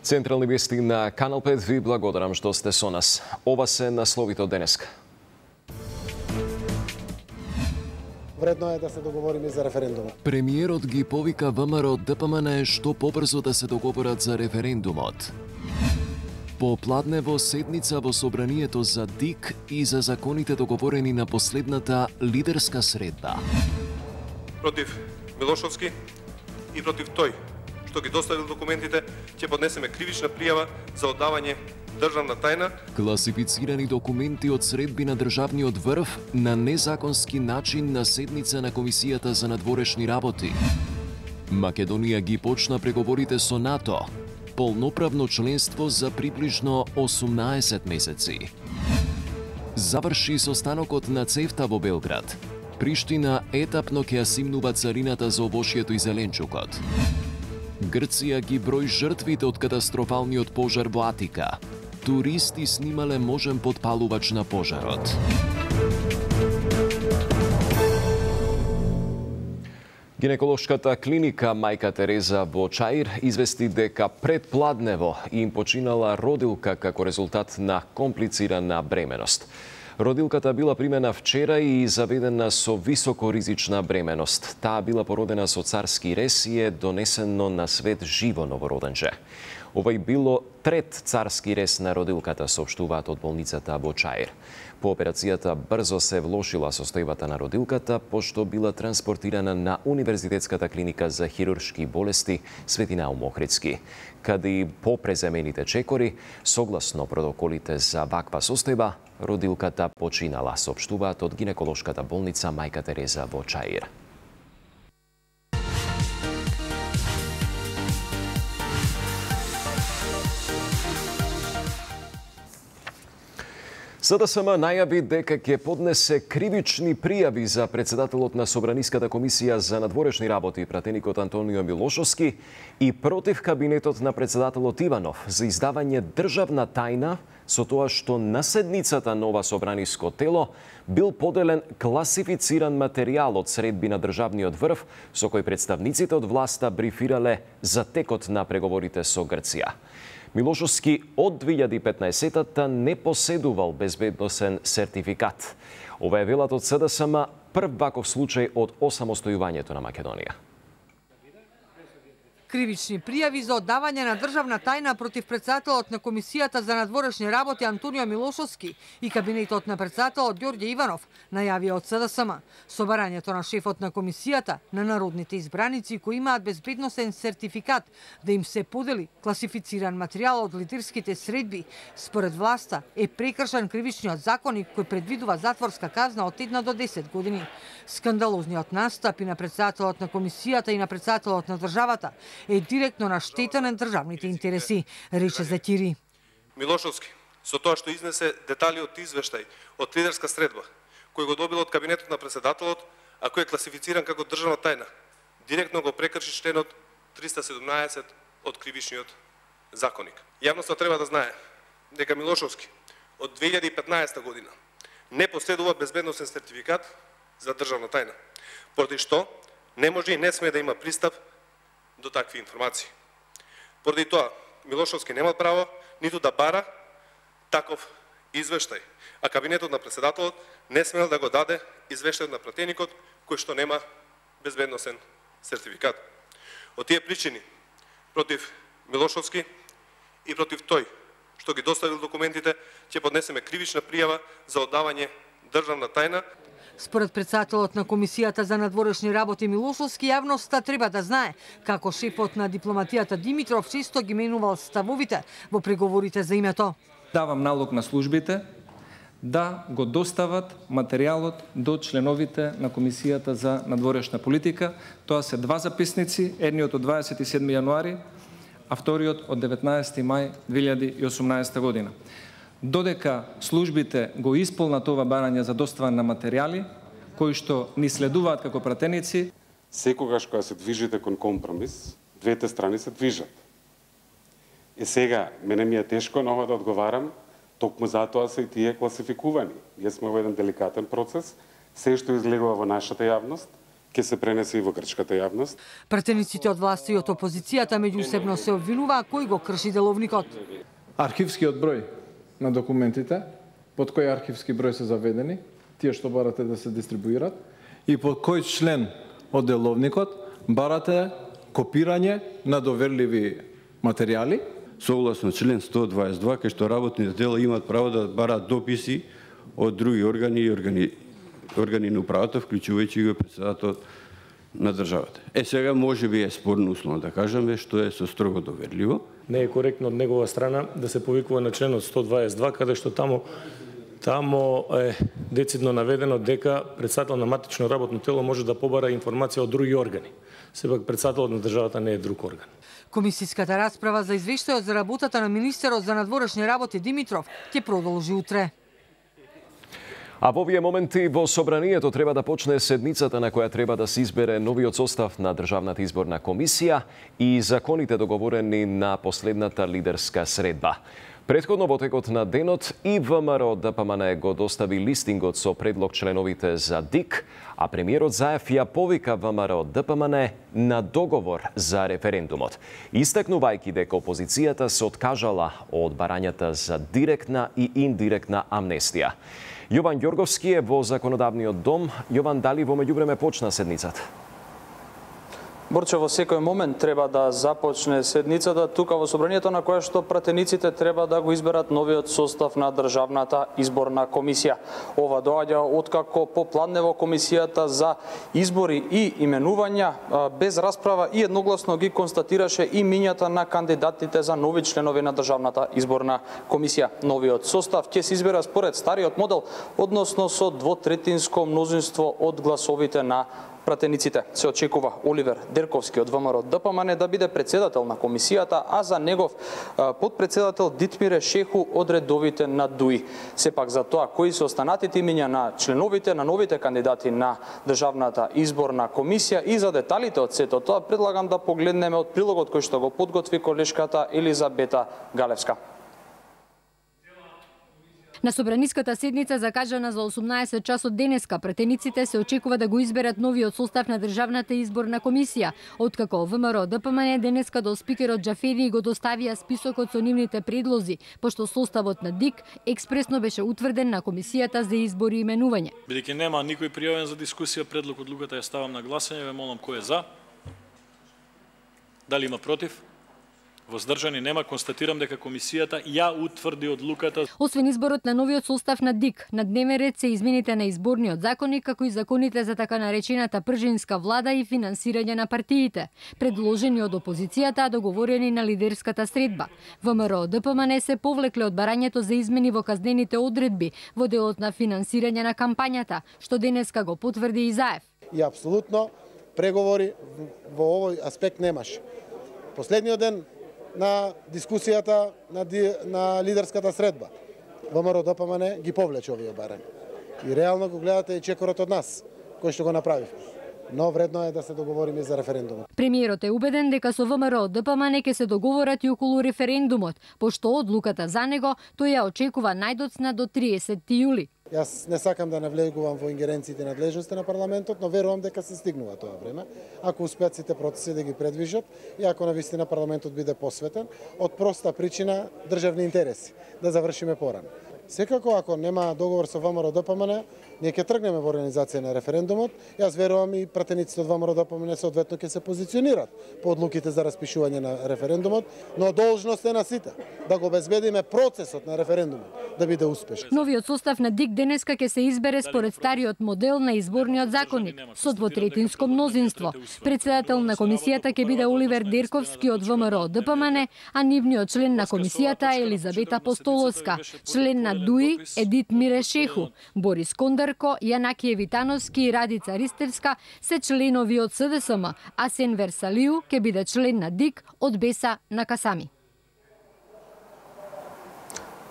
Централни вести на Канал 5 ви благодарам што сте со нас. Ова се насловите од денеска. Вредно е да се договориме за референдумот. Премиерот ги повика ВМРО ДПМН што побрзо да се договорат за референдумот. Попладнево седница во собранието за ДИК и за законите договорени на последната лидерска средба. Против Милошовски и против тој што ги доставил документите, ќе поднесеме кривична пријава за оддавање државна тајна. Класифицирани документи од средби на државниот врв на незаконски начин на седница на Комисијата за надворешни работи. Македонија ги почна преговорите со НАТО. Полноправно членство за приближно 18 месеци. Заврши состанокот на ЦЕФТА во Белград. Приштина етапно ќе ја симнува царината за овошјето и зеленчукот. Грција ги брои жртвите од катастрофалниот пожар во Атика. Туристи снимале можен подпалувач на пожарот. Гинеколошката клиника Мајка Тереза во Чаир извести дека предпладнево им починала родилка како резултат на комплицирана бременост. Родилката била примена вчера и заведена со високоризична бременост. Таа била породена со царски рез и е донесено на свет живо новороденче. Овој било трет царски рез на родилката, соопштуваат од болницата во Чаир. По операцијата брзо се влошила состојбата на родилката, пошто била транспортирана на Универзитетската клиника за хируршки болести Свети Наум Охридски, каде и по преземените чекори, согласно протоколите за ваква состојба, родилката починала, соопштуваат од гинеколошката болница Мајка Тереза во Чаир. СДСМ најави дека ќе поднесе кривични пријави за председателот на Собраниската комисија за надворешни работи, пратеникот Антонио Милошовски, и против кабинетот на председателот Иванов за издавање државна тајна со тоа што на седницата на ова собраниско тело бил поделен класифициран материјал од средби на државниот врв со кој представниците од власта брифирале за текот на преговорите со Грција. Милошовски од 2015-та не поседувал безбедносен сертификат. Ова е велат од СДСМ прв ваков случај од осамостојувањето на Македонија. Кривични пријави за оддавање на државна тајна против председателот на Комисијата за надворешни работи Антонио Милошовски и кабинетот на председателот Ѓорѓе Иванов најавија од СДСМ. Собарањето на шефот на Комисијата на народните избраници кои имаат безбедносен сертификат да им се подели класифициран материјал од лидерските средби, според власта е прекршен кривичниот законник кој предвидува затворска казна од 1 до 10 години. Скандалозниот настап и на председателот на Комисијата и на председателот на државата е директно на штета на државните интереси, рече Затири. Милошовски, со тоа што изнесе детали од извештај од лидерска средба, кој го добил од кабинетот на председателот, а кој е класифициран како државна тајна, директно го прекрши членот 317 од кривичниот законник. Јавноста треба да знае дека Милошовски од 2015 година не поседува безбедносен сертификат за државна тајна, поради што не може и не сме да има пристап до такви информации. Поради тоа, Милошовски нема право ниту да бара таков извештај, а кабинетот на председателот не смел да го даде извештајот на пратеникот кој што нема безбедносен сертификат. Од тие причини, против Милошовски и против тој што ги доставил документите, ќе поднесеме кривична пријава за оддавање државна тајна. Според председателот на Комисијата за надворешни работи Милошовски, јавноста треба да знае како шефот на дипломатијата Димитров често ги менувал ставовите во преговорите за името. Давам налог на службите да го достават материјалот до членовите на Комисијата за надворешна политика. Тоа се два записници, едниот од 27 јануари, а вториот од 19 мај 2018 година. Додека службите го исполнат ова барање за доставање на материјали, кои што ни следуваат како пратеници. Секогаш кога се движите кон компромис, двете страни се движат. И сега, мене ми е тешко на ова да одговарам, токму затоа се и тие класификувани. Ние сме во еден деликатен процес, се што излегува во нашата јавност ќе се пренесе и во грчката јавност. Пратениците од власти и од опозицијата меѓусебно се обвинува кој го крши деловникот. Архивскиот број на документите, под кој архивски број се заведени, тие што барате да се дистрибуират, и под кој член од деловникот барате копирање на доверливи материјали. Согласно член 122, кај што работните тела имаат право да бараат дописи од други органи и органи на управата, вклучувајќи го председателот на државата. Сега може би е спорно условно да кажеме што е со строго доверливо. Не е коректно од негова страна да се повикува на членот 122, каде што тамо е децидно наведено дека председател на матично работно тело може да побара информација од други органи. Сепак председателот на државата не е друг орган. Комисиската расправа за извештајот за работата на министерот за надворешни работи Димитров ќе продолжи утре. А во овие моменти во Собранието треба да почне седницата на која треба да се избере новиот состав на Државната изборна комисија и законите договорени на последната лидерска средба. Претходно во текот на денот и ВМРО ДПМН го достави листингот со предлог членовите за ДИК, а премиерот Заев ја повика ВМРО ДПМН на договор за референдумот, истакнувајќи дека опозицијата се откажала од барањата за директна и индиректна амнестија. Јован Ѓорговски е во Законодавниот дом. Јован, дали во меѓувреме почна седницата? Борче, во секој момент треба да започне седницата тука во Собранието, на која што пратениците треба да го изберат новиот состав на Државната изборна комисија. Ова доаѓа откако попладнево комисијата за избори и именувања без расправа и едногласно ги констатираше и мињата на кандидатите за нови членови на Државната изборна комисија. Новиот состав ќе се избера според стариот модел, односно со двотретинско мнозинство од гласовите на пратениците. Се очекува Оливер Дерковски од ВМРО ДПМН да биде председател на комисијата, а за негов подпредседател Дитмире Шеху од редовите на ДУИ. Сепак за тоа кои се останатите имиња на членовите, на новите кандидати на Државната изборна комисија и за деталите од сето тоа предлагам да погледнеме од прилогот кој што го подготви колешката Елизабета Галевска. На собраниската седница закажана за 18 часот денеска, пратениците се очекува да го изберат новиот состав на Државната изборна комисија, откако ВМРО ДПМН денеска до спикерот Џафери го доставија списокот со нивните предлози, пошто составот на ДИК експресно беше утврден на комисијата за избори и именување. Бидејќи нема никој пријавен за дискусија, предлог одлуката ја ставам на гласање, ве молам кој е за? Дали има против? Воздржани нема, констатирам дека комисијата ја утврди одлуката. Освен изборот на новиот состав на ДИК, на дневен ред се измените на изборниот законник, како и законите за така наречената пржинска влада и финансирање на партиите, предложени од опозицијата, а договорени на лидерската средба. ВМРО ДПМН се повлекле од барањето за измени во казнените одредби во делот на финансирање на кампањата, што денеска го потврди и Заев. И апсолутно преговори во овој аспект немаше. Последниот ден на дискусијата на лидерската средба, ВМРО ДПМН ги повлече овие барања. И реално го гледате и чекорот од нас, кој што го направив. Но вредно е да се договориме за референдумот. Премиерот е убеден дека со ВМРО ДПМН ќе се договорат и околу референдумот, пошто одлуката за него тој ја очекува најдоцна до 30 јули. Јас не сакам да навлегувам во ингеренциите и надлежности на парламентот, но верувам дека се стигнува тоа време. Ако успеат сите процеси да ги предвижат и ако навистина парламентот биде посветен, од проста причина државни интереси, да завршиме порано. Секако, ако нема договор со ВМРО ДПМН, ние ќе тргнеме во организација на референдумот. Јас верувам и пратениците од ВМРО ДПМН соодветно ќе се позиционират по одлуките за распишување на референдумот, но должност е на сите да го обезбедиме процесот на референдумот да биде успешен. Новиот состав на ДИК денеска ќе се избере според стариот модел на изборниот законник со двотретинско мнозинство. Председател на комисијата ќе биде Оливер Дерковски од ВМРО ДПМН, а нивниот член на комисијата е Елизабета Постоловска, член на ДУИ е Дитмире Шеху, Борис Кондарко, Јанакије Витановски и Радица Ристевска се членови од СДСМ, а Сен Версалију ќе биде член на ДИК од Беса на Касами.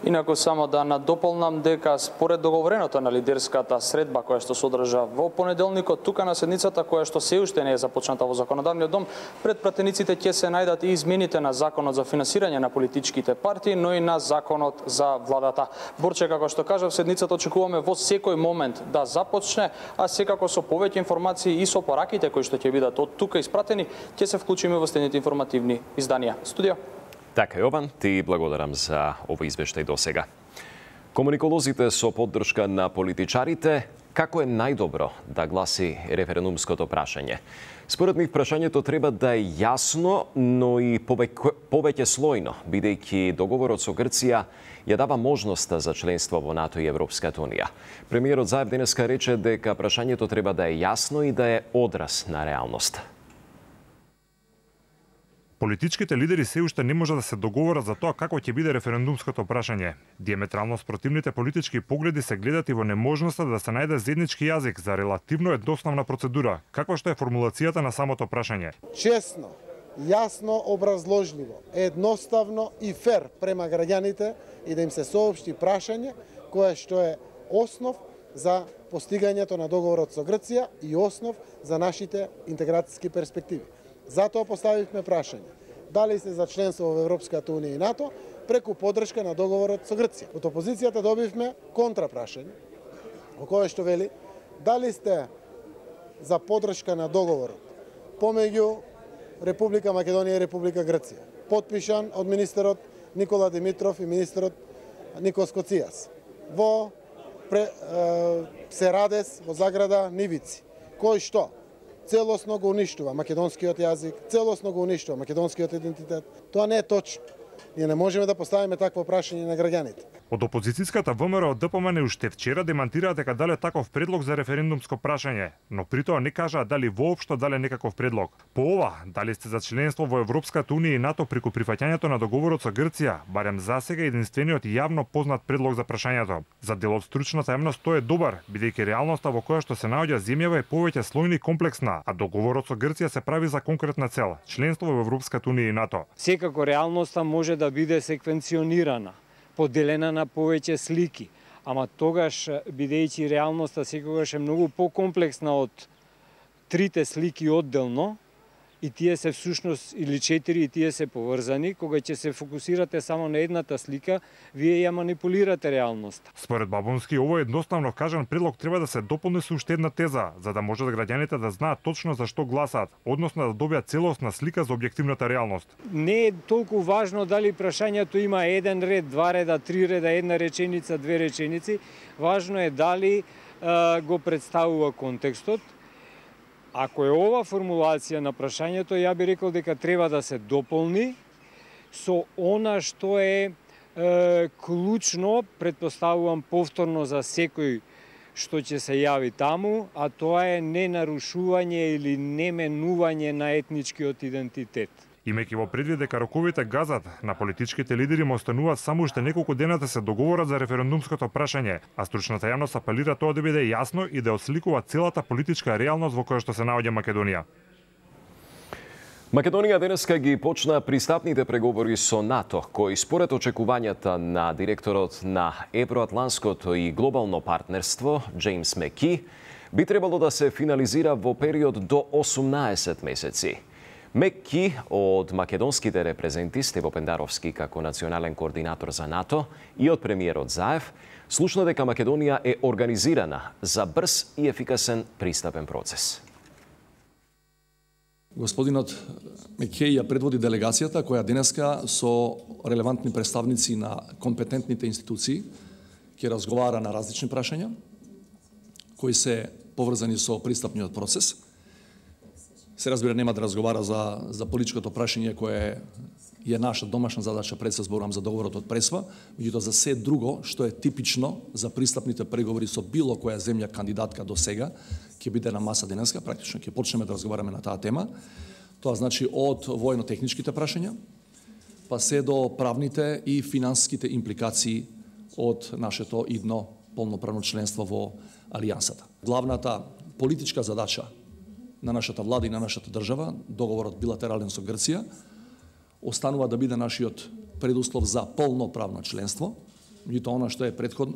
Инаку само да надополнам дека според договореното на лидерската средба која што се одржа во понеделникот тука на седницата која што се уште не е започната во законодавниот дом, пред пратениците ќе се најдат и измените на законот за финансирање на политичките партии, но и на законот за владата. Борче, како што кажав, седницата очекуваме во секој момент да започне, а секако со повеќе информации и со пораките кои што ќе бидат од тука испратени, ќе се вклучиме во следните информативни изданија. Студио. Така, Јован, ти благодарам за овој извештај до сега. Комуниколозите со поддршка на политичарите, како е најдобро да гласи референдумското прашање? Според нив прашањето треба да е јасно, но и повеќе слојно, бидејќи договорот со Грција ја дава можноста за членство во НАТО и Европската Унија. Премиерот Заев денеска рече дека прашањето треба да е јасно и да е одраз на реалноста. Политичките лидери се уште не може да се договорат за тоа како ќе биде референдумското прашање. Диаметрално спротивните политички погледи се гледат и во неможноста да се најде заеднички јазик за релативно едноставна процедура, каква што е формулацијата на самото прашање. Честно, јасно, образложливо, едноставно и фер према граѓаните и да им се соопшти прашање кое што е основ за постигањето на договорот со Грција и основ за нашите интеграцијски перспективи. Затоа поставивме прашање. Дали сте за членство во Европската Унија и НАТО преку поддршка на договорот со Грција. Од опозицијата добивме контрапрашање, во кое што вели дали сте за поддршка на договорот помеѓу Република Македонија и Република Грција, потпишан од министерот Никола Димитров и министерот Никос Коцijas во Серадес во заграда Нивици, кој што целосно го уништува македонскиот јазик, целосно го уништува македонскиот идентитет. Тоа не е точно. Ние не можеме да поставиме такво прашање на граѓаните. Од опозицијската ВМРО ДПМН уште вчера демантираа дека дале таков предлог за референдумско прашање, но при тоа не кажаа дали воопшто дале некаков предлог. По ова, дали сте за членство во Европската Унија и НАТО преку прифаќањето на договорот со Грција, барем засега единствениот јавно познат предлог за прашањето. За дел од стручната јавност тој е добар, бидејќи реалноста во која што се наоѓа земјава е повеќе слојна и комплексна, а договорот со Грција се прави за конкретна цел – членство во Европската Унија и НАТО. Секако реалноста може да биде секвенционирана, поделена на повеќе слики, ама тогаш, бидејќи реалноста секогаш е многу покомплексна од трите слики одделно, и тие се всушност, или 4, и тие се поврзани, кога ќе се фокусирате само на едната слика, вие ја манипулирате реалноста. Според Бабунски, овој едноставно кажан предлог треба да се дополни со уште една теза, за да можат граѓаните да знаат точно за што гласаат, односно да добијат целосна слика за објективната реалност. Не е толку важно дали прашањето има еден ред, два реда, три реда, една реченица, две реченици. Важно е дали го представува контекстот. Ако е ова формулација на прашањето, ја би рекол дека треба да се дополни со она што е клучно, претпоставувам повторно за секој што ќе се јави таму, а тоа е ненарушување или неменување на етничкиот идентитет. Имајќи во предвид дека роковите газат, на политичките лидери му остануваат само уште неколку дена да се договорат за референдумското прашање, а стручната јавност апелира тоа да биде јасно и да осликува целата политичка реалност во која што се наоѓа Македонија. Македонија денеска ги почна пристапните преговори со НАТО, кои според очекувањата на директорот на Евроатланското и глобално партнерство, Джеймс Меки, би требало да се финализира во период до 18 месеци. Меки од македонските репрезенти Стево Пендаровски како национален координатор за НАТО и од премиерот Заев слушна дека Македонија е организирана за брз и ефикасен пристапен процес. Господинот Мекеј ја предводи делегацијата која денеска со релевантни представници на компетентните институции ќе разговара на различни прашања кои се поврзани со пристапниот процес. Се разбира, нема да разговара за политичкото прашање кое е наша домашна задача, пред се зборувам за договорот од Пресва, меѓутоа за се друго што е типично за пристапните преговори со било која земја кандидатка до сега, ќе биде на маса денеска, практично ќе почнеме да разговараме на таа тема. Тоа значи од војно-техничките прашања, па се до правните и финансиските импликации од нашето идно полноправно членство во Алијансата. Главната политичка задача на нашата влада и на нашата држава, договорот билатерален со Грција, останува да биде нашиот предуслов за полноправно членство Меѓутоа,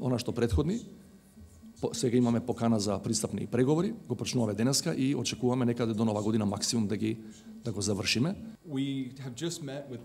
она што претходни, сега имаме покана за пристапни преговори, го почнуваме денеска и очекуваме некаде до нова година максимум да го завршиме.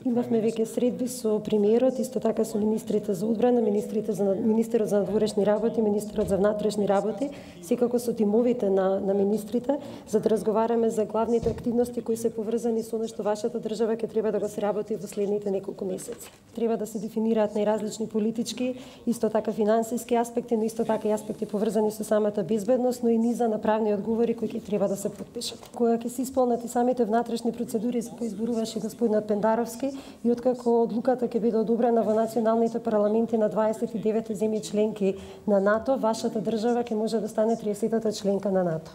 Имавме веќе средби со премиерот, исто така со министрите за одбрана, министерот за надворешни работи, министерот за внатрешни работи, секако со тимовите на министрите, за да разговараме за главните активности кои се поврзани со нешто вашата држава ќе треба да го се работи во следните неколку месеци. Треба да се дефинираат најразлични политички, исто така финансиски аспекти, но исто така и аспекти поврзани со самата безбедност, но и низа на правни одговори кои ќе треба да се подпишат. Кога ќе се исполнат и самите внатрешни процедури за кои изборуваше господинот Пендаровски и откако одлуката ќе биде одобрена во националните парламенти на 29 земји членки на НАТО, вашата држава ќе може да стане 30-та членка на НАТО.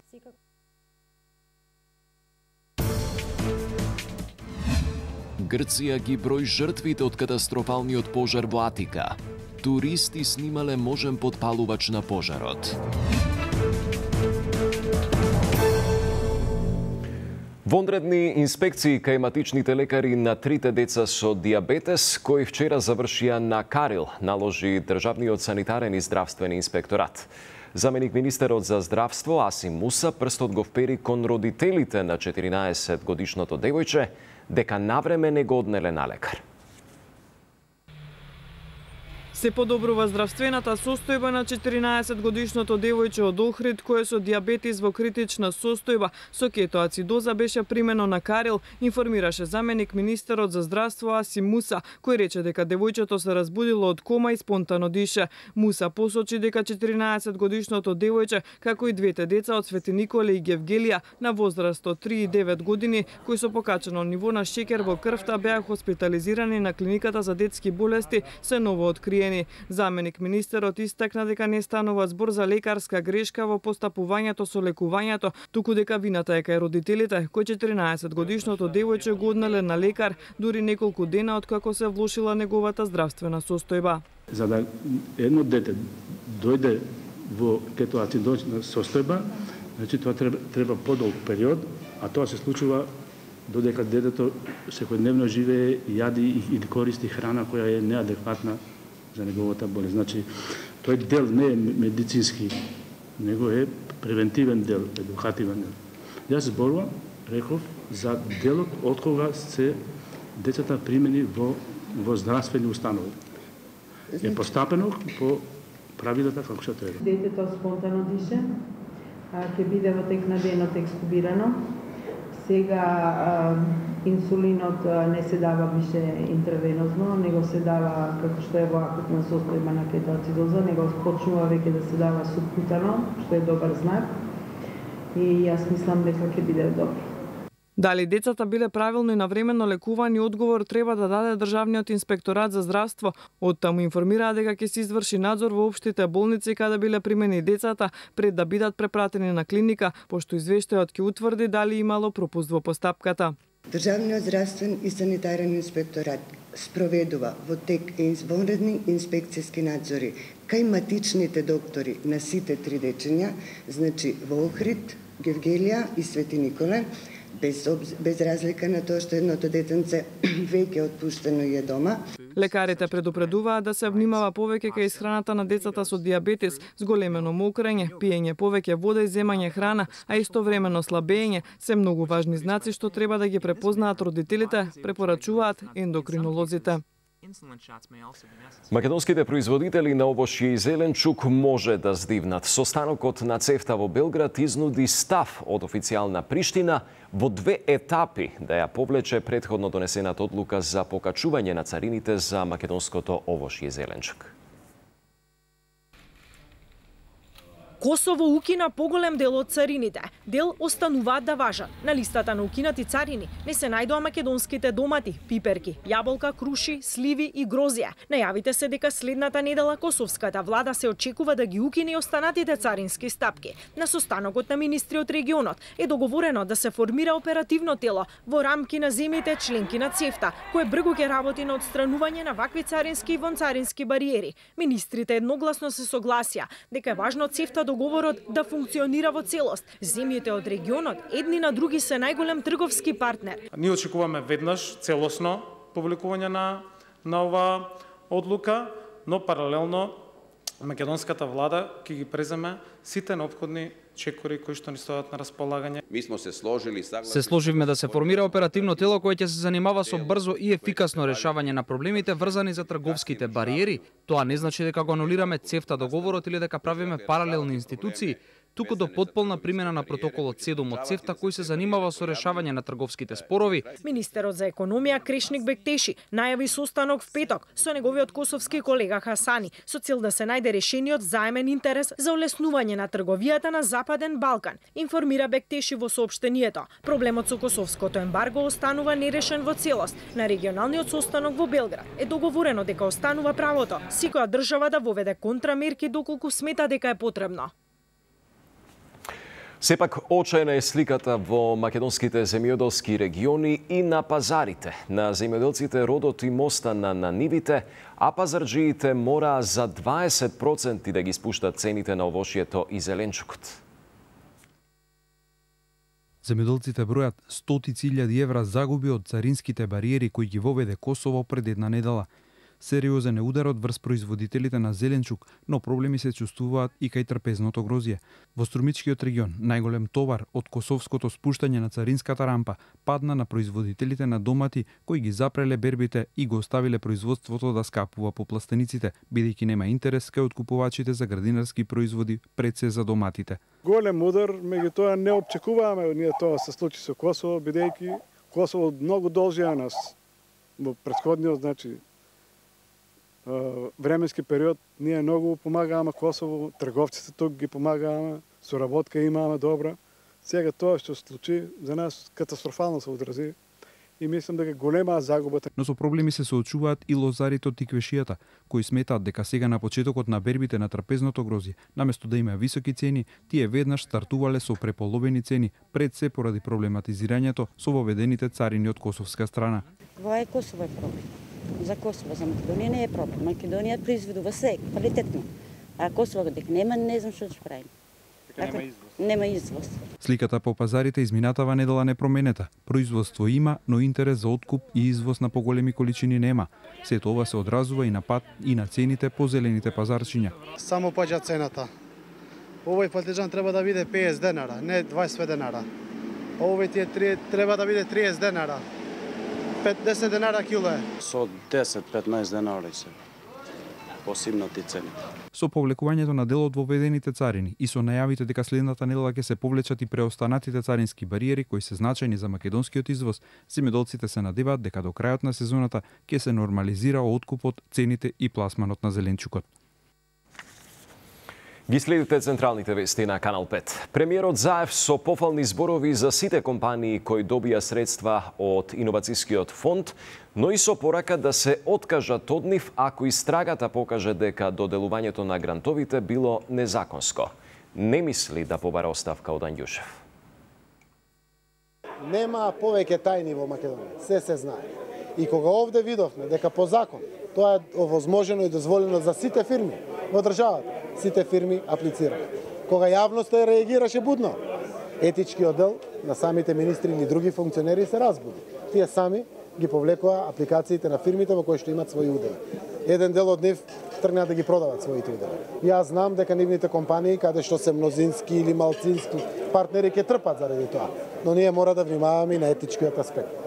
Грција ги брои жртвите од катастрофалниот пожар во Атика. Туристи снимале можен подпалувач на пожарот. Вонредни инспекции кај матичните лекари на 3 деца со диабетес, кои вчера завршија на Карил, наложи Државниот санитарен и здравствен инспекторат. Заменик министерот за здравство Асим Муса прстот го впери кон родителите на 14-годишното девојче, дека навреме не го однеле на лекар. Се подобрува здравствената состојба на 14-годишното девојче од Охрид, кое со диабетис во критична состојба со кетоацидоза беше примено на Карил, информираше заменик министерот за здравство Асим Муса, кој рече дека девојчето се разбудило од кома и спонтано дише. Муса посочи дека 14-годишното девојче, како и двете деца од Свети Николе и Гевгелија на возраст од 3 и 9 години, кои со покачено ниво на шекер во крвта беа хоспитализирани на клиниката за детски болести, се ново откриени. Заменик министерот истакна дека не станува збор за лекарска грешка во постапувањето со лекувањето, туку дека вината е кај родителите, кои 14-годишното девојче го однеле на лекар дури неколку дена откако се влошила неговата здравствена состојба. За да едно дете дојде во кетоацидозна состојба, значи тоа треба подолг период, а тоа се случува додека детето секојдневно живее, јади и користи храна која е неадекватна за неговата болест. Значи, тој дел не е медицински, него е превентивен дел, едукативен дел. Јас зборувам, реков, за делот од кога се децата примени во здравствени установи. Е постапено по правилата како што треба. Детето спонтано дише, ќе биде во тек на денот екстубирано. Сега инсулинот не се дава више интравенозно, него се дава како што е во акутна состојба на кетоацидоза, него почнува веќе да се дава субкутано, што е добар знак. И јас мислам дека ќе биде добро. Дали децата биле правилно и навремено лекувани, одговор треба да даде Државниот инспекторат за здравство. Оттаму информираа дека ќе се изврши надзор во општите болници каде биле примени децата пред да бидат препратени на клиника, пошто извештајот ќе утврди дали имало пропуст во постапката. Државниот здравствен и санитарен инспекторат спроведува во тек извонредни инспекцијски надзори кај матичните доктори на сите 3 дечиња, значи во Охрид, Гевгелија и Свети Николе, без разлика на тоа што едното детенце веќе отпуштено и е дома. Лекарите предупредуваат да се внимава повеќе кај исхраната на децата со диабетес, зголемено мокрење, пиење повеќе вода и земање храна, а истовремено слабење, се многу важни знаци што треба да ги препознаат родителите, препорачуваат ендокринолозите. Македонските производители на овошје и зеленчук може да здивнат. Состанокот на ЦЕФТА во Белград изнуди став од официјална Приштина во 2 етапи да ја повлече претходно донесената одлука за покачување на царините за македонското овошје и зеленчук. Косово укина поголем дел од царините. Дел остануваат да важат. На листата на укинати царини не се најдоа македонските домати, пиперки, јаболка, круши, сливи и грозија. Најавите се дека следната недела косовската влада се очекува да ги укине и останатите царински стапки. На состанокот на министри од регионот е договорено да се формира оперативно тело во рамки на земјите членки на ЦЕФТА, кое бргу ќе работи на отстранување на вакви царински и вонцарински бариери. Министрите едногласно се согласија дека е важно ЦЕФТА договорот да функционира во целост. Земјите од регионот едни на други се најголем трговски партнер. Ние очекуваме веднаш целосно публикување на ова одлука но паралелно македонската влада ќе ги преземе сите неопходни чекори кои што ни стојат на располагање. Се сложивме да се формира оперативно тело кое ќе се занимава со брзо и ефикасно решавање на проблемите врзани за трговските бариери. Тоа не значи дека го анулираме ЦЕФТА договорот или дека правиме паралелни институции, туку до потполна примена на протоколот 7 од ЦЕФТА кој се занимава со решавање на трговските спорови. Министерот за економија Крешник Бектеши најави состанок в петок со неговиот косовски колега Хасани со цел да се најде решение од заемен интерес за олеснување на трговијата на Западен Балкан, информира Бектеши во соопштението. Проблемот со косовското ембарго останува нерешен во целост. На регионалниот состанок во Белград е договорено дека останува правото секоја држава да воведе контрамерки доколку смета дека е потребно. Сепак, очајна е сликата во македонските земјоделски региони и на пазарите. На земјоделците родот им остана на нивите, а пазарджиите мора за 20% да ги спуштат цените на овошјето и зеленчукот. Земјоделците бројат стотици илјади евра загуби од царинските бариери кои ги воведе Косово пред една недела. Сериозен е ударот врз производителите на зеленчук, но проблеми се чувствуваат и кај трпезното грозје. Во Струмичкиот регион најголем товар од косовското спуштање на царинската рампа падна на производителите на домати кои ги запреле бербите и го оставиле производството да скапува по пластениците, бидејќи нема интерес кај откупувачите за градинарски производи пред се за доматите. Голем удар, меѓутоа не очекуваме ние тоа се случи со Косово, бидејќи Косово многу должи на нас во претходниот, значи временски период, ние многу помагаваме Косово, трговците тук ги помагаваме, соработка имаме добра. Сега тоа што се случи за нас катастрофално се одрази и мислам дека голема загубата. Но со проблеми се соочуваат и лозарите од тиквешијата, кои сметаат дека сега на почетокот на бербите на трпезното грозје, наместо да има високи цени, тие веднаш стартувале со преполовени цени, пред се поради проблематизирањето со воведените царини од косовска страна. Ова е Косово е проблем. За Косово, за Македонија не е проблем. Македонија произведува се квалитетно. А Косово дека нема, не знам што ќе правиме. Нема извоз. Сликата по пазарите изминатава недела не променета. Производство има, но интерес за откуп и извоз на поголеми количини нема. Сето ова се одразува и на пат и на цените по зелените пазарчиња. Само паѓа цената. Овој патиџан треба да биде 50 денара, не 20 денара. Овој тие треба да биде 30 денара. 50 денара кило е. Со 10-15 денари се посимнати цените. Со повлекувањето на дел од воведените царини и со најавите дека следната недела ќе се повлечат и преостанатите царински бариери кои се значајни за македонскиот извоз, земјоделците се надеваат дека до крајот на сезоната ќе се нормализира откупот, цените и пласманот на зеленчукот. Ги следите централните вести на Канал 5. Премиерот Заев со пофални зборови за сите компании кои добија средства од Иновацијскиот фонд, но и со порака да се откажат од нив ако истрагата покаже дека доделувањето на грантовите било незаконско. Не мисли да побара оставка од Анѓушев. Нема повеќе тајни во Македонија, се знае. И кога овде видовме дека по закон тоа е овозможено и дозволено за сите фирми во државата, сите фирми аплицираат. Кога јавноста реагираше будно, етички оддел на самите министри или други функционери се разбуди. Тие сами ги повлекоа апликациите на фирмите во кои што имат своји удели. Еден дел од нив тргнаа да ги продават своите удели. Јас знам дека нивните компании, каде што се мнозински или малцински партнери, ќе трпат заради тоа, но ние мора да внимаваме и на етичкиот аспект.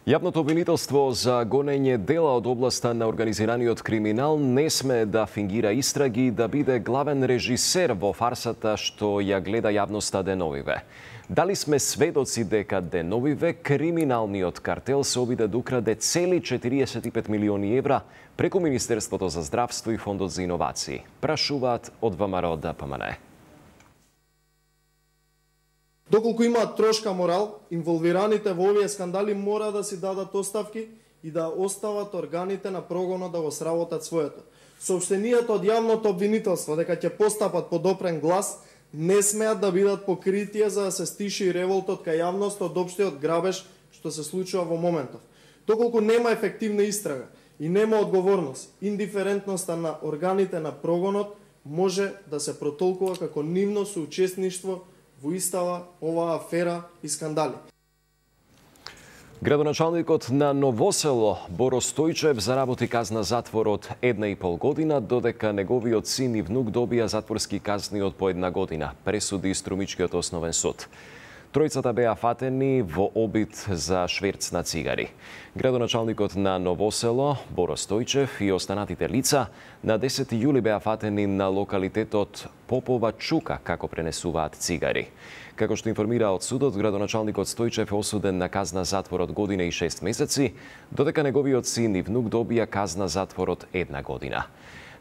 Јавното обвинителство за гонење дела од областа на организираниот криминал не смее да фингира истраги и да биде главен режисер во фарсата што ја гледа јавноста деновиве. Дали сме сведоци дека деновиве криминалниот картел се обиде да украде цели 45 милиони евра преку Министерството за здравство и Фондот за иновации? Прашуваат од ВМРО ДПМН. Доколку имаат трошка морал, инволвираните во овие скандали мора да си дадат оставки и да остават органите на прогонот да го сработат своето. Соопштенијата од јавното обвинителство дека ќе постапат под опрен глас не смеат да бидат покритие за да се стиши револтот кај јавноста од општиот грабеж што се случува во моментов. Доколку нема ефективна истрага и нема одговорност, индиферентноста на органите на прогонот може да се протолкува како нивно соучесништво во истава оваа афера и скандали. Градоначалникот на Новосело Боро Стојчев заработи казна затвор од 1,5 година, додека неговиот син и внук добија затворски казни од по 1 година, пресуди Струмичкиот основен суд. Тројцата беа фатени во обид за шверц на цигари. Градоначалникот на Новосело, Боро Стојчев и останатите лица на 10 јули беа фатени на локалитетот Попова Чука како пренесуваат цигари. Како што информира од судот, градоначалникот Стојчев е осуден на казна затвор од година и 6 месеци, додека неговиот син и внук добија казна затвор од 1 година.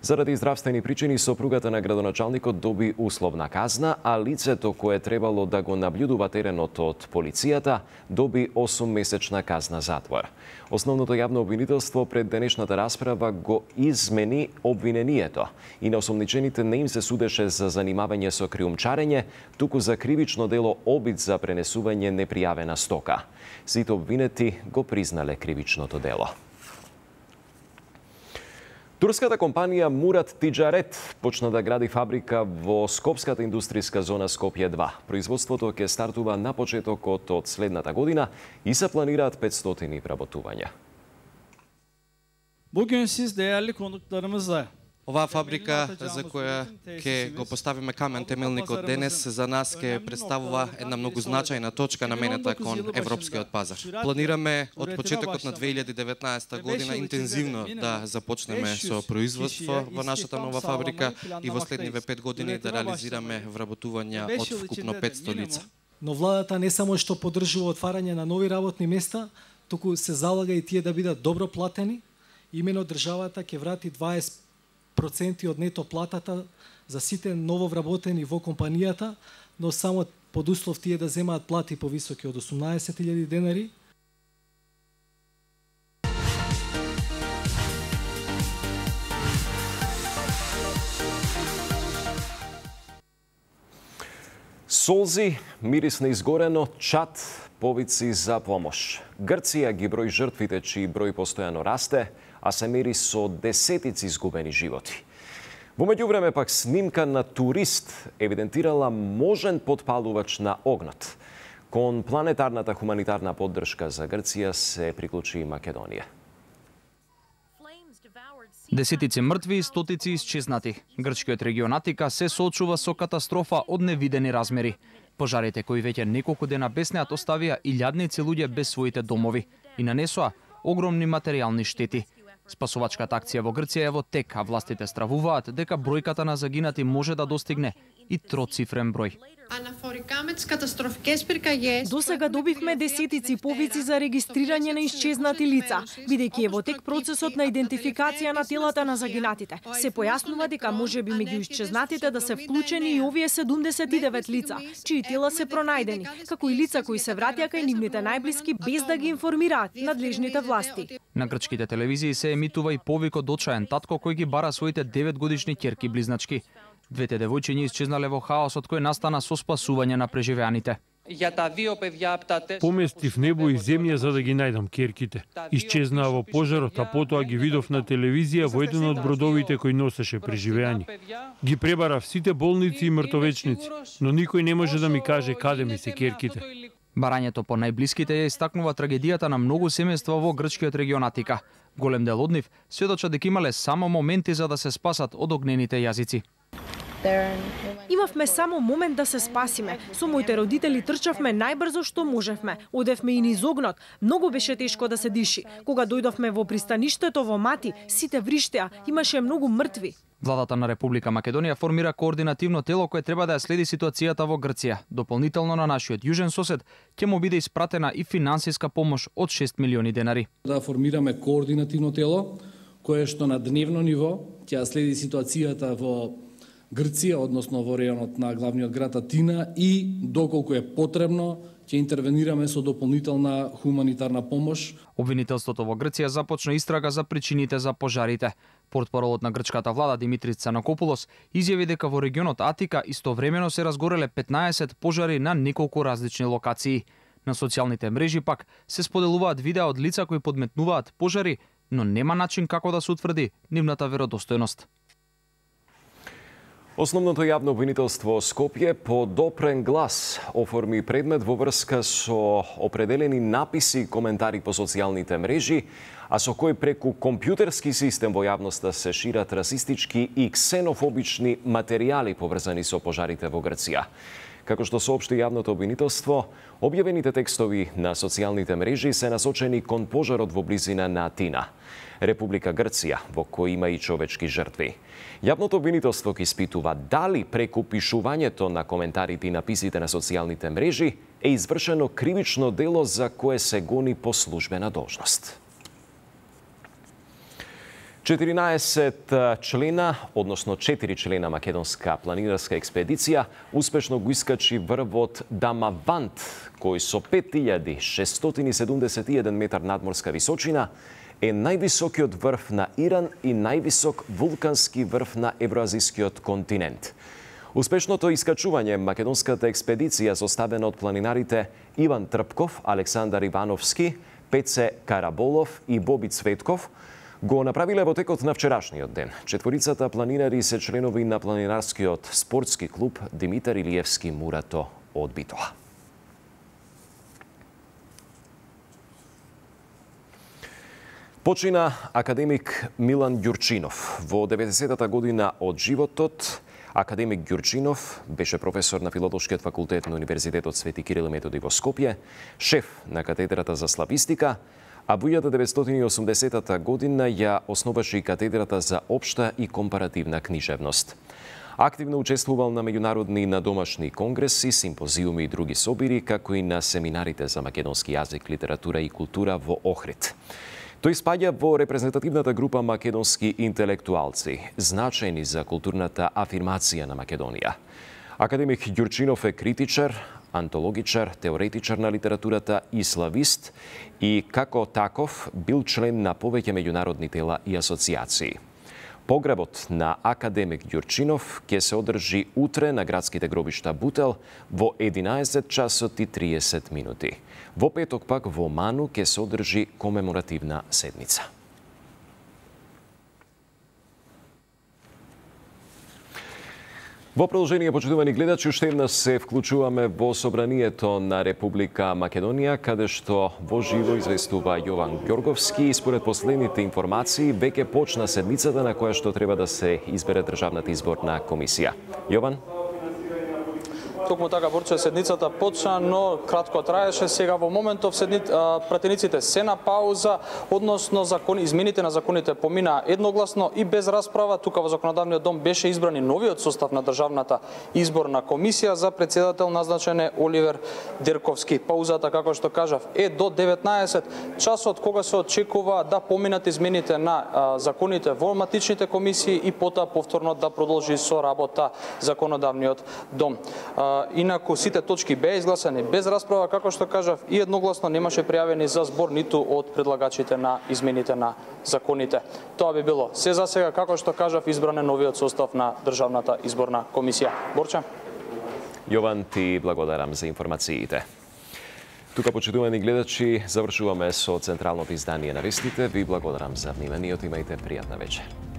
Заради здравствени причини, сопругата на градоначалникот доби условна казна, а лицето кое требало да го наблюдува теренот од полицијата доби 8-месечна казна затвор. Основното јавно обвинителство пред денешната расправа го измени обвинението и на осомничените не им се судеше за занимавање со криумчарење, туку за кривично дело обид за пренесување непријавена стока. Сите обвинети го признале кривичното дело. Турската компанија Мурат Тиджарет почна да гради фабрика во Скопската индустријска зона Скопје 2. Производството ќе стартува на почетокот од следната година и се планираат 500 вработувања. Bugün siz değerli konuklarımızla Оваа фабрика за која ќе го поставиме камен темелникот денес за нас ќе представува една многу значајна точка наменета кон европскиот пазар. Планираме од почетокот на 2019 година интензивно да започнеме со производство во нашата нова фабрика и во следниве 5 години да реализираме вработувања од вкупно 500 лица. Но владата не само што поддржува отварање на нови работни места, туку се залага и тие да бидат добро платени. Имено државата ќе врати 20% од нето платата за сите нововработени во компанијата, но само под услов тие да земаат плати повисоки од 18.000 денари. Солзи, мирис на изгорено, чат, повици за помош. Грција ги брои жртвите, чии број постојано расте, а се мери со десетици изгубени животи. Во меѓувреме пак снимка на турист евидентирала можен потпалувач на огнот. Кон планетарната хуманитарна поддршка за Грција се приклучи и Македонија. Десетици мртви и стотици исчезнати. Грчкиот регион Атика се соочува со катастрофа од невидени размери. Пожарите кои веќе неколку дена беснеат оставија илјадници луѓе без своите домови и нанесоа огромни материјални штети. Спасувачката акција во Грција е во тек, а властите стравуваат дека бројката на загинати може да достигне и троцифрен број. До сега добивме десетици повици за регистрирање на исчезнати лица, бидејќи е во тек процесот на идентификација на телата на загинатите. Се појаснува дека можеби меѓу исчезнатите да се вклучени и овие 79 лица, чии тела се пронајдени, како и лица кои се вратија кај нивните најблиски без да ги информираат надлежните власти. На грчките телевизии се емитува и повик од очаен татко кој ги бара своите 9-годишни ќерки близначки. Двете девојчиња исчезнале во хаосот кој настана со спасување на преживеаните. Поместив небо и земја за да ги најдам ќерките. Исчезнаа во пожарот, а потоа ги видов на телевизија во еден од бродовите кој носеше преживеани. Ги пребарав сите болници и мртовечници, но никој не може да ми каже каде ми се ќерките. Барањето по најблиските ја истакнува трагедијата на многу семејства во грчкиот регион Атика. Голем дел од нив сведочат дека имале само моменти за да се спасат од огнените јазици. Имавме само момент да се спасиме. Со моите родители трчавме најбрзо што можевме. Одевме и низ огнот. Многу беше тешко да се диши. Кога дојдовме во пристаништето во Мати, сите вриштеа, имаше многу мртви. Владата на Република Македонија формира координативно тело кое треба да ја следи ситуацијата во Грција. Дополнително на нашиот јужен сосед ќе му биде испратена и финансиска помош од 6 милиони денари. Да формираме координативно тело кое што на дневно ниво ќе следи ситуацијата во Грција, односно во рејонот на главниот град Атина и доколку е потребно ќе интервенираме со дополнителна хуманитарна помош. Обвинителството во Грција започна истрага за причините за пожарите. Портпаролот на грчката влада Димитрис Цанакопулос изјави дека во регионот Атика истовремено се разгореле 15 пожари на неколку различни локации. На социјалните мрежи пак се споделуваат видеа од лица кои подметнуваат пожари, но нема начин како да се утврди нивната веродостојност. Основното јавно обвинителство Скопје по допрен глас оформи предмет во врска со определени написи и коментари по социјалните мрежи, а со кој преку компјутерски систем во јавноста се шират расистички и ксенофобични материјали поврзани со пожарите во Грција. Како што соопшти јавното обвинителство, објавените текстови на социјалните мрежи се насочени кон пожарот во близина на Атина, Република Грција, во кој има и човечки жртви. Јавното обвинителство ќе испитува дали преку пишувањето на коментарите и написите на социјалните мрежи е извршено кривично дело за кое се гони по службена должност. 14 члена, односно 4 члена македонска планинарска експедиција успешно го искачи врвот Дамавант, кој со 5671 метар надморска височина е највисокиот врв на Иран и највисок вулкански врв на евроазискиот континент. Успешното искачување македонската експедиција составена од планинарите Иван Трпков, Александар Ивановски, Пеце Караболов и Боби Цветков го направиле во текот на вчерашниот ден. Четворицата планинари се членови на планинарскиот спортски клуб Димитар Илиевски Мурато од Битола. Почина академик Милан Ѓурчинов. Во 90-та година од животот, академик Ѓурчинов беше професор на Филолошкиот факултет на Универзитетот Свети Кирил и Методи во Скопје, шеф на катедрата за славистика, а во 1980 година ја основаше и катедрата за општа и компаративна книжевност. Активно учествувал на меѓународни и на домашни конгреси, симпозиуми и други собири, како и на семинарите за македонски јазик, литература и култура во Охрид. Тој спаѓа во репрезентативната група македонски интелектуалци, значајни за културната афирмација на Македонија. Академик Ѓурчинов е критичар, антологичар, теоретичар на литературата и славист и како таков бил член на повеќе меѓународни тела и асоциации. Погребот на академик Ѓурчинов ќе се одржи утре на градските гробишта Бутел во 11 часот и 30 минути. Во петок пак во Ману ќе се одржи комеморативна седница. Во продолжение, почитувани гледачи, уште еднаш се вклучуваме во собранието на Република Македонија, каде што во живо известува Јован Ѓорговски и според последните информации веќе почна седмицата на која што треба да се избере државната изборна комисија. Јован? Токму така, Борче, седницата почна, но кратко траеше. Сега во моментов пратениците се на пауза, односно измените на законите поминаа едногласно и без расправа. Тука во Законодавниот дом беше избран и новиот состав на државната изборна комисија. За председател назначен е Оливер Дерковски. Паузата, како што кажав, е до 19 часот, кога се очекува да поминат измените на законите во матичните комисии и потоа повторно да продолжи со работа Законодавниот дом. Инаку сите точки беа изгласани без расправа, како што кажав, и едногласно немаше пријавени за збор ниту од предлагачите на измените на законите. Тоа би било се за сега, како што кажав, избран е новиот состав на државната изборна комисија. Борче? Јован, ти благодарам за информациите. Тука, почитувани гледачи, завршуваме со централното издание на вестите. Ви благодарам за вниманието, имајте пријатна вечер.